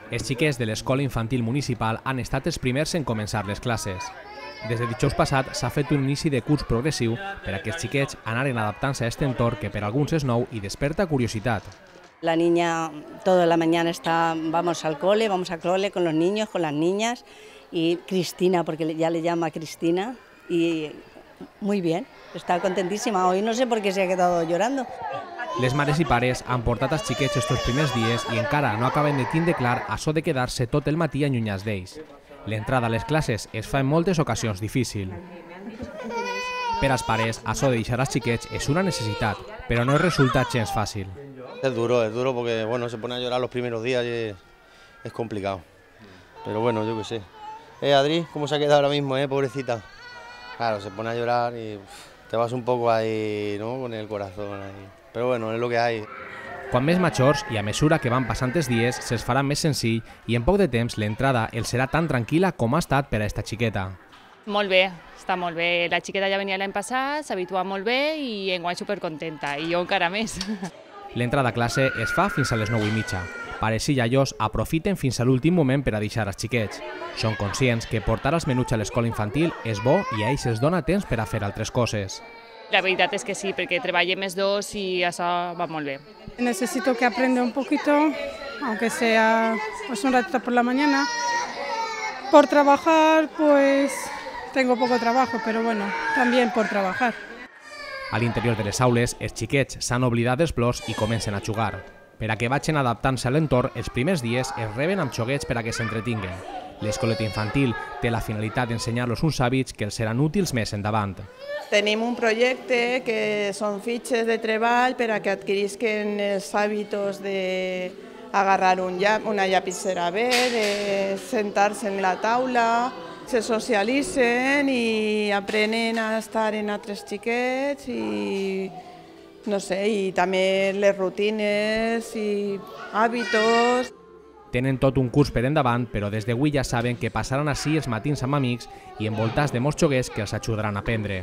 Els xiquets de l'escola infantil municipal han estat els primers en començar les classes. Des de dijous passat s'ha fet un inici de curs progressiu per a que els xiquets anaren adaptant-se a aquest entorn que per alguns és nou i desperta curiositat. La niña toda la mañana vamos al cole, vamos al cole con los niños, con las niñas, y Cristina, porque ya le llama Cristina, y muy bien, está contentísima. Hoy no sé por qué se ha quedado llorando. Les mares i pares han portat els xiquets estos primers dies i encara no acaben de tindre clar açò de quedar-se tot el matí allunyats d'ells. L'entrada a les classes es fa en moltes ocasions difícil. Per als pares, açò de deixar els xiquets és una necessitat, però no resulta gens fàcil. Es duro porque bueno, se pone a llorar los primeros días y es complicado. Pero bueno, yo qué sé. Adri, ¿cómo se ha quedado ahora mismo, pobrecita? Claro, se pone a llorar y te vas un poco ahí, ¿no?, con el corazón ahí. Però bueno, és el que hay. Quan més majors i a mesura que van passant els dies se'ls farà més senzill i en poc de temps l'entrada els serà tan tranquil·la com ha estat per a esta xiqueta. Molt bé, està molt bé. La xiqueta ja venia l'any passat, s'habitua molt bé i enguany supercontenta, i jo encara més. L'entrada a classe es fa fins a les 9:30. Pares i iaios aprofiten fins a l'últim moment per a deixar els xiquets. Són conscients que portar els menuts a l'escola infantil és bo i a ells els dona temps per a fer altres coses. La veritat és que sí, perquè treballem els dos i això va molt bé. Necesito que aprenda un poquito, aunque sea pues un ratito por la mañana. Por trabajar, pues tengo poco trabajo, pero bueno, también por trabajar. A l'interior de les aules, els xiquets s'han oblidat dels plors i comencen a jugar. Per a que vagin adaptant-se a l'entorn, els primers dies es reben amb xoguets per a que s'entretinguen. L'escoleta infantil té la finalitat d'ensenyar-los uns hàbits que els seran útils més endavant. Tenim un projecte que són fitxes de treball per a que adquirisquen els hàbits d'agarrar una llapissera bé, de sentar-se en la taula, se socialitzen i aprenen a estar en altres xiquets i no sé, i també les rutines i hàbits. Tenen tot un curs per endavant, però des d'avui ja saben que passaran així els matins amb amics i envoltats de molts xoguers que els ajudaran a aprendre.